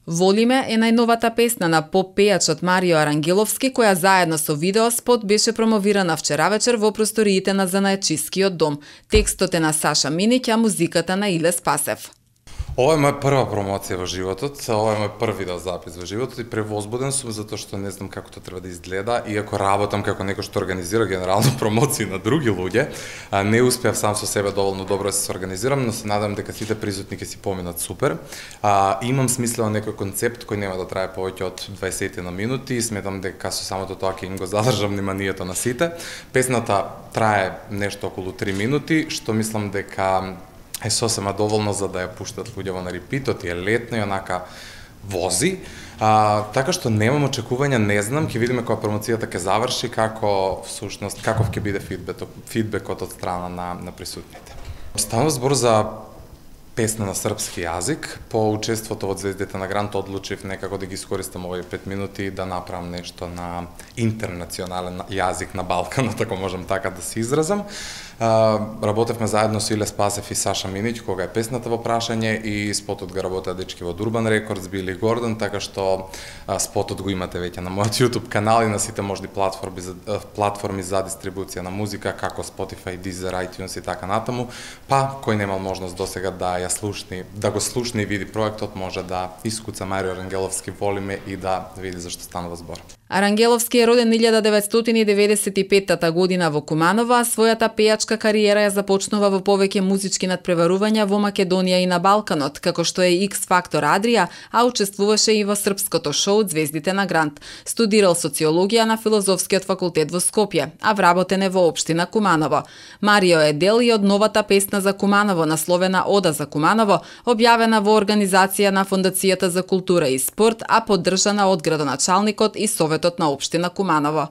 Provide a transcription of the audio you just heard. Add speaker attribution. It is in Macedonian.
Speaker 1: Волиме е најновата песна на поп-пејачот Марио Арангеловски, која заедно со видеоспот беше промовирана вчера вечер во просториите на Занаетчискиот дом. Текстот е на Саша Миниќ, а музиката на Иле Спасев.
Speaker 2: Ова е моја прва промоција во животот, ова е мој први видеозапис во животот и превозбуден сум затоа што не знам како тоа треба да изгледа, иако работам како некој што организира генерално промоции на други луѓе, не успеав сам со себе доволно добро да се организирам, но се надам дека сите присутни ќе си поминат супер. Имам смислено некој концепт кој нема да трае повеќе од 20 на минути и сметам дека со самото тоа ќе им го задржам вниманието на сите. Песната трае нешто околу 3 минути, што мислам дека е сосема доволно за да ја пуштат луѓе на репитот, е летно и онака вози. Така што немам очекувања, не знам, ќе видиме кога промоцијата ќе заврши, како всушност каков ќе биде фидбекот од страна на присутните. Станува збор за песна на српски јазик. По учеството од Звездите на Грант одлучив некако да ги искористам овие 5 минути да направам нешто на интернационален јазик на Балканот, ако можам така да се изразам. Работевме заедно со Иле Спасев и Саша Миниќ, кога е песната во прашање, и спотот го работеа дечки од Urban Records, Били Гордон, така што спотот го имате веќе на мојот YouTube канал и на сите можни платформи за дистрибуција на музика, како Spotify, Deezer, iTunes и така натаму. Па, кој немал можност досега да го слушне и види проектот, може да искуца Марио Арангеловски Волиме и да види зашто станува збор.
Speaker 1: Арангеловски е роден 1995 година во Куманово, а својата пејачка кариера ја започнува во повеќе музички надпреварувања во Македонија и на Балканот, како што е X Factor Adria, а учествуваше и во српското шоу Звездите на Грант. Студирал социологија на Филозофскиот факултет во Скопје, а вработен е во општина Куманово. Марио е дел и од новата песна за Куманово, насловена Ода за Куманово, објавена во организација на Фондацијата за култура и спорт, а поддржана од градоначалникот и Советот на општина Куманово.